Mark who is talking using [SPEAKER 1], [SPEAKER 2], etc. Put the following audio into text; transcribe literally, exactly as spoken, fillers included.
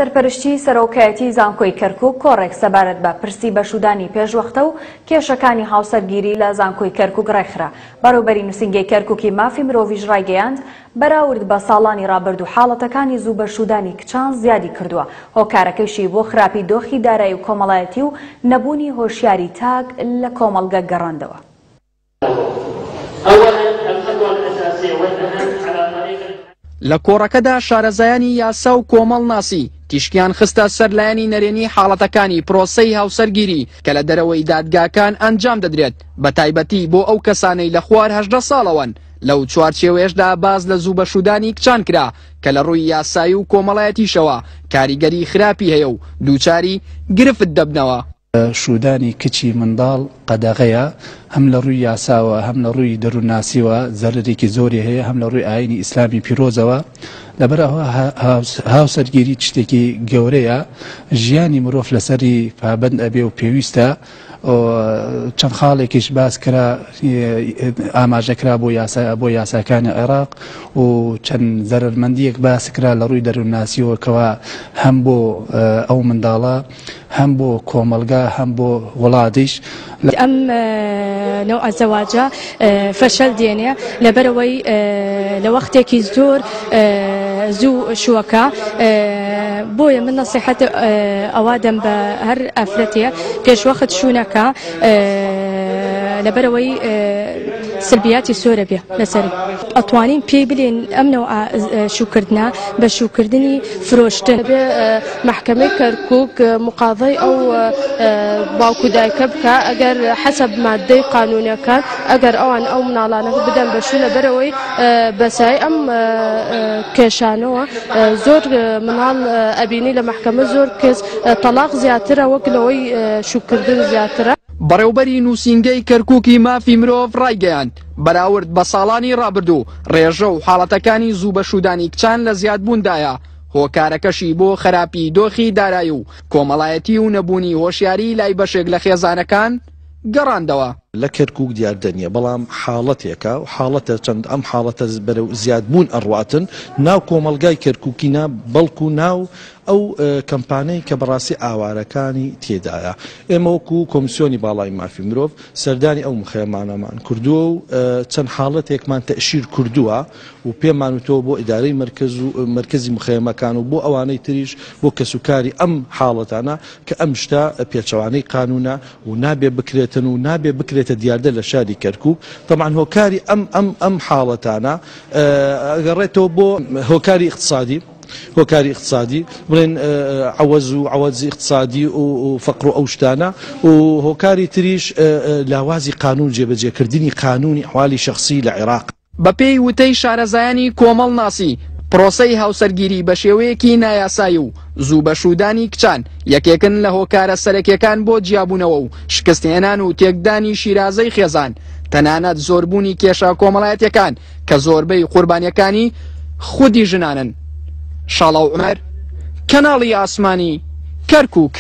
[SPEAKER 1] سەرپەرشتی سەرۆکایەتی زانکۆی کەرکوک کۆڕێک سەبارەت بە پرسی بەشودانی پێشوەختە و کێشەکانی هاوسەرگیری لە زانکۆی کەرکوک ڕێکخرا. بەڕێوەبەری نووسینگەی کەرکوکی مافی مرۆڤیش ڕایگەیاند بەراورد بە ساڵانی ڕابردوو حاڵەتەکانی زوو بەشودانی کچان زیادی کردووە، هۆکارەکەیشی بۆ خراپی دۆخی دارایی و کۆمەڵایەتی و نەبوونی هۆشیاری تاک لە کۆمەڵگە گەڕاندەوە.
[SPEAKER 2] لە کۆڕەکەدا شارەزایانی یاسا و کۆمەڵناسی تیشکیان خستە سەر لایەنی نەرێنی حاڵەتەکانی پرۆسەی هاوسەرگیری کە لە دەرەوەی دادگاکان ئەنجام دەدرێت، بە تایبەتی بۆ ئەو کەسانەی لە خوار هەژدە ساڵەوەن. لەو چوارچێوەیەشدا باز لە زوو بەشودانی کچان کرا کە لە ڕووی یاسایی و کۆمەڵایەتیشەوە کاریگەری خراپی هەیە و دووچاری گرفت دەبنەوە.
[SPEAKER 3] شودانی کچی منداڵ قەدەغەیە، هەم لە ڕووی یاساوە هەم لە ڕووی دەروونناسیوە زەرەرێکی زۆری هەیە، هەم لە ڕووی ئاینی ئیسلامی پیرۆزەوە. لەبەرەوە هاوسەرگیری شتێکی گەورەیە، ژیانی مرۆڤ لەسەری پابەند ئەبێ و پێویستە. چەند خاڵێکیش باس کرا، ئاماژە کرا بۆ یاسا بۆ یاساکانی عێراق و چەند زەرەرمەندیەک باس کرا لە ڕووی دەروونناسیەوە کەوا هەم بۆ ئەو منداڵە هەم بۆ کۆمەلگا هەم بۆ وڵاتیش.
[SPEAKER 4] ئەم نەوع زەواجە فەشەل دێنێ لەبەرەوەی لە وەختێکی زۆر زوو شووەکە، بۆیە من نەسیحەت ئەوە دەم بە هەر ئافرەتێ پێشوەخت شوونەکە لەبەرەوەی سلبیاتی سۆرە بێ لەسەری. ئەتوانین پێی بلێن ئەم نەوع شووکردنە بە شووکردنی فرۆشتن.
[SPEAKER 5] بێ محکمەی کەرکوک مقاضەی ئەو باوکو دایکە بکە ئەگەر حەسەب مادەی قانونەکان، ئەگەر ئەوان ئەو مناڵانە بدەن بە شوو، لەبەرەوەی بەسای ئەم کێشانەوە زۆر مناڵ ئەبینی لە محکمە زۆر کەس تەلاق زیاترە وەک لەوەی شووکردن زیاترە.
[SPEAKER 2] بەڕێوبەری نووسینگەی کەرکوکی مافی مرۆڤ ڕایگەیاند بەراورد بە ساڵانی ڕابردوو ڕێژە و حاڵەتەکانی زوو بەشودانی کچان لە زیادبووندایە، هۆکارەکەشی بۆ خراپی دۆخی دارایی و کۆمەڵایەتی و نەبوونی هۆشیاری لای بەشێک لە خێزانەکان گەڕاندەوە.
[SPEAKER 6] لە کەرکوک دیاردە نییە، بەڵام حاڵەتێکە و حاڵەتە چەند ئەم حاڵەتە بەرەو زیادبوون ئەڕواتن ناو کۆمەلگای کەرکوکی نا، بەڵکو ناو ئەو کەمپانەی کە بەڕاستی ئاوارەکانی تێدایە. ئێمە وەکو کۆمیسیۆنی باڵای مافی مرۆڤ سەردانی ئەو مخەیەمانەمان کردووە و چەند حاڵەتێکمان تەشیر کردووە و پێمان وتەوە بۆ ئیدارەی مرکز و مرکزی مخەیەمەکان و بۆ ئەوانەی تریش بۆ کەسوکاری ئەم حاڵەتانە کە ئەم شتە پێچەوانەی قانونە و نابێ بکرێتن و نابێ بکرێتە دیاردە لە شاری کەرکوک. طبعا هۆکاری ئەم ئەم ئەم حاڵەتانە ئەگەڕێتەوە بۆ هۆکاری اقتصادی، هۆکاری اقتصادی بڵێن عەوەز و عەوەزی اقتصادی و فەقر و ئەو شتانە، و هۆکاری تریش لاوازی قانون، جێبەجێکردنی قانونی ئەحوالی شەخسی لە عێراق.
[SPEAKER 2] بەپێی وتەی شارەزایانی کۆمەڵناسی پرۆسەی هاوسەرگیری بە شێوەیەکی نایاسایی و زوو بەشودانی کچان یەکێکن لە هۆکارە سەرەکیەکان بۆ جیابوونەوە و شکستهێنان و تێکدانی شیرازەی خێزان، تەنانەت زۆربوونی کێشە کۆمەڵایەتیەکان کە زۆربەی قوربانیەکانی خودی ژنانن. شاڵاو عومەر، کەناڵی ئاسمانی کەرکوک.